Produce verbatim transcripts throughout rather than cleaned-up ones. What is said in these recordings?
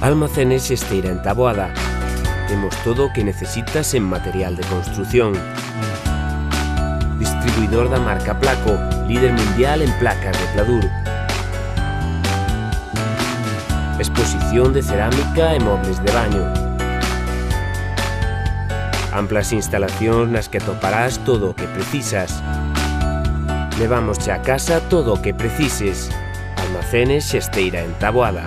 Almacenes Xesteira en Taboada. Temos todo o que necesitas en material de construción. Distribuidor da marca Placo, líder mundial en placas de pladur. Exposición de cerámica e mobles de baño. Amplas instalacións nas que atoparás todo o que precisas. Levamos xa a casa todo o que precises. Almacenes Xesteira en Taboada.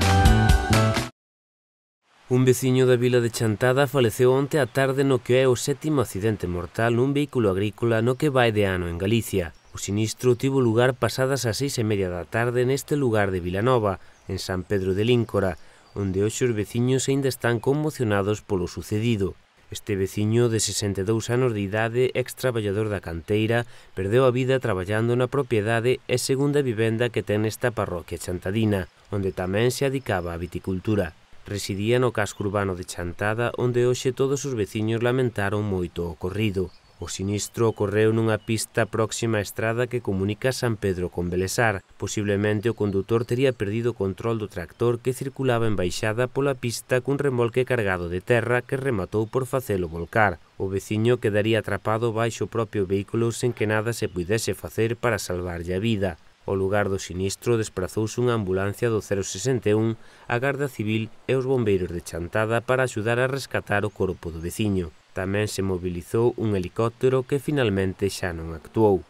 Un veciño da vila de Chantada faleceu onte á tarde no que é o sétimo accidente mortal nun vehículo agrícola no que vai de ano en Galicia. O sinistro tivo lugar pasadas as seis e media da tarde neste lugar de Vilanova, en San Pedro de Líncora, onde hoxe os veciños aínda están conmocionados polo sucedido. Este veciño de sesenta e dous anos de idade, ex-traballador da canteira, perdeu a vida traballando na propiedade e segunda vivenda que ten nesta parroquia chantadina, onde tamén se adicaba á viticultura. Residía no casco urbano de Chantada, onde hoxe todos os veciños lamentaron moito o ocorrido. O sinistro ocorreu nunha pista próxima á estrada que comunica San Pedro con Belesar. Posiblemente o condutor tería perdido o control do tractor que circulaba en baixada pola pista cun remolque cargado de terra que rematou por facelo volcar. O veciño quedaría atrapado baixo o propio vehículo sen que nada se puidese facer para salvarlle a vida. Ao lugar do sinistro desprazouse unha ambulancia do cero sesenta e un, a Garda Civil e os bombeiros de Chantada para axudar a rescatar o corpo do veciño. Tamén se mobilizou un helicóptero que finalmente xa non actuou.